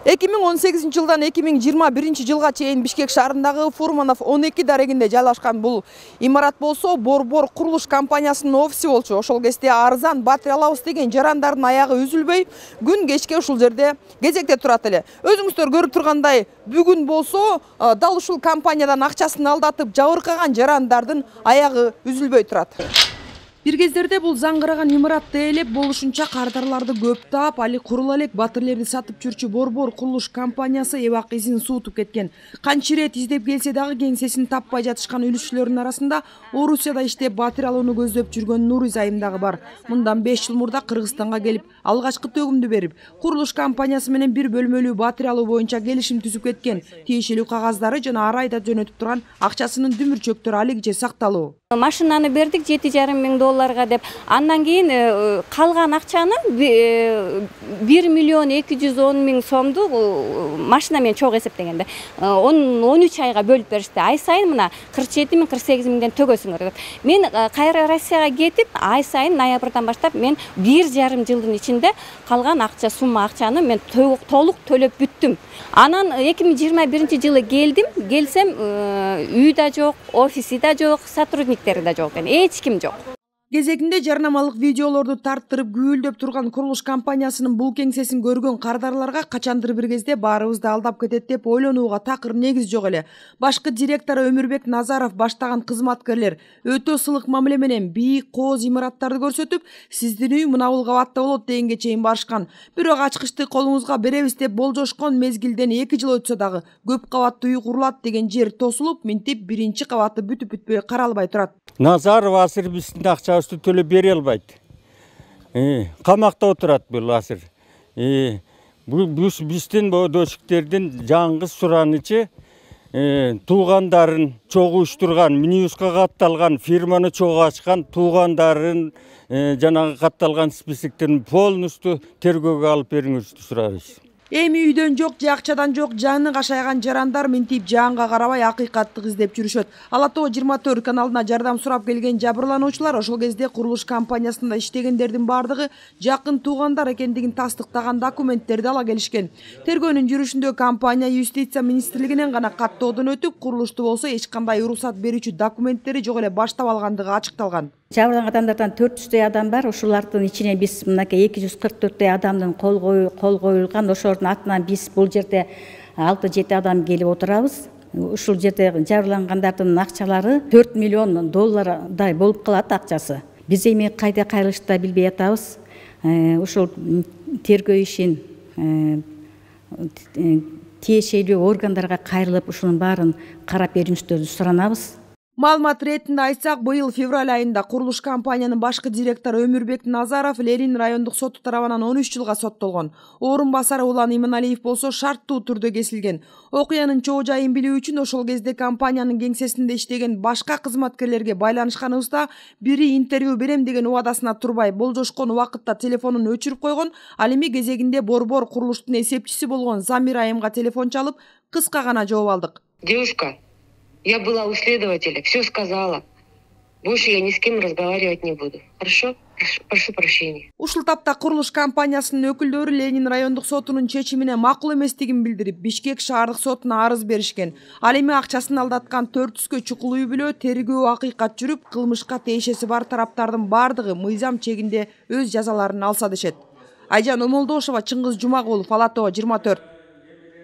2018 жылдан 2021 жылга чейин Бишкек шаарындагы Фурманов 12 дарегинде жайлашкан бул имарат болсо Борбор курулуш компаниясынын офиси болчу. Ошол кезде арзан батыры алабыз деген жарандардын аягы үзүлбөй, күн кечке ушул жерде кезекте турат эле. Өзүңүздөр көрүп тургандай, бүгүн болсо дал ушул компаниядан акчасын алдатып жабыркаган жарандардын аягы үзүлбөй турат. Бир кездерде бул заңгыраган имаратты ээлеп болушунча кардарларды көп таап, али курула элек батирлерди сатып жүрчү Борбор курулуш компаниясы эбак изин суутуп кеткен. Канча ирет издеп келсе дагы кеңсесин таппай жатышкан үлүшчүлөрдүн арасында Орусияда иштеп батир алууну көздөп жүргөн Нуриз айым дагы бар. Мындан 5 жыл мурда Кыргызстанга келип, алгачкы төгүмдү берип, курулуш компаниясы менен бир бөлмөлүү батир алуу боюнча келишим түзүп кеткен. Тиешелүү кагаздары жана ар айда жөнөтүп турган акчасынын дүмүрчөктөрү алигиче сакталуу. Машинаны бердик 7,5 миң долларга деп. Андан кийин калган акчаны 1 миллион 210 миң сомду машина менен чогуу эсептегенде 13 айга бөлүп беришти. Ай сайын мына 47 миң 48 миңден төгөсүңөр деп. Мен кайра Россияга кетип, ай сайын ноябрдан баштап мен 1,5 жылдын ичинде калган сумма акчаны мен толук төлөп бүттүм. Анан 2021 жылы келсем үй да жок, офиси да жок, сотрудниктери да жок, эч ким жок. Кезегинде жарнамалык видеолорду тарттырып гүйлдөп турган курулуш компаниясынын бул кеңсесин көргөн кардарларга качандыр бир кезде баарыбызды алдап кетет деп ойлонууга такыр негиз жок эле. Башкы директору Өмүрбек Назаров баштаган кызматкерлер өтө сылык мамиле менен бийик кооз имараттарды көрсөтүп, сиздин үй мына бул кабатта болот дегенге чейин барышкан. Бирок ачкычты колуңузга беребиз деп болжошкон мезгилден 2 жыл өтсө дагы көп кабаттуу үй курулат деген жер тосулуп, минтип биринчи кабаты бүтүп-бүтпөй каралбай турат. Назаров Асыр биздин акчабызды төлөп бере албайт. Камакта отурат бул Асыр. Биздин дошиктердин жаңгыз суранычы туугандарын чогуу уштурган, минибуска катталган, фирманы чогуу ачкан туугандарын жанагы катталган списоктерин полностью тергөөгө алып бериңизди сурайбыз. Эми үйдөн жок, же акчадан жок, жаны кашайган жарандар минтип жаанга карабай акыйкаттык издеп жүрүшөт. Ала Тоо 24 каналына жардам сурап келген жабырлануучулар ошол кезде курулуш компаниясында иштегендердин бардыгы жакын туугандар экендигин тастыктаган документтерди ала келишкен. Тергөөнүн жүрүшүндө компания Юстиция министрлигинен гана каттоодон өтүп, курулушту болсо эч кандай уруксат берүүчү документтери жок эле баштап алгандыгы ачыкталган. Жабырланган адамдардан 400 адам бар. Ошолордун ичинен биз мынакей 244 адамдын кол коюлган. Ошолордун атынан биз бул жерде 6-7 адам келип отурабыз. Ушул жерде жабырлангандардын акчалары 4 миллион доллардай болуп калат акчасы. Биз эми кайда кайрылышты да билбей атабыз. Ушул тергөө ишин тиешелүү органдарга кайрылып, ушунун баарын карап берүүңүздөрдү суранабыз. Маалымат иретинде айтсак, быйыл февраль айында курулуш компаниянын башкы директору Өмүрбек Назаров Ленин райондук соту тарабынан 13 жылга соттолгон. Орун басары Улан Иманалиев болсо шарттуу түрдө кесилген. Окуянын чоо жайын билүү үчүн ошол кезде компаниянын кеңсесинде иштеген башка кызматкерлерге байланышканыбызда бири интервью берем деген убадасына турбай болжошкон убакытта телефонун өчүрүп койгон. Ал эми кезегинде Борбор курулуштун эсепчиси болгон Замир айымга телефон чалып, кыска гана жооп алдык. Девушка, я была у следователя, все сказала. Больше я ни с кем разговаривать не буду. Хорошо? Прошу прощения. Ушул тапта курулуш компаниясынын өкүлдөрү Ленин райондук сотунун чечимине макул эместигин билдирип, Бишкек шаардык сотуна арыз беришкен. Ал эми акчасын алдаткан 400 чукул үй бүлө тергөө акыйкат жүрүп, кылмышка тиешеси бар тараптардын бардыгы мыйзам чегинде өз жазаларын алса дешет. Айжан Омолдошова, Чыңгыз Жумагулов, Ала Тоо 24.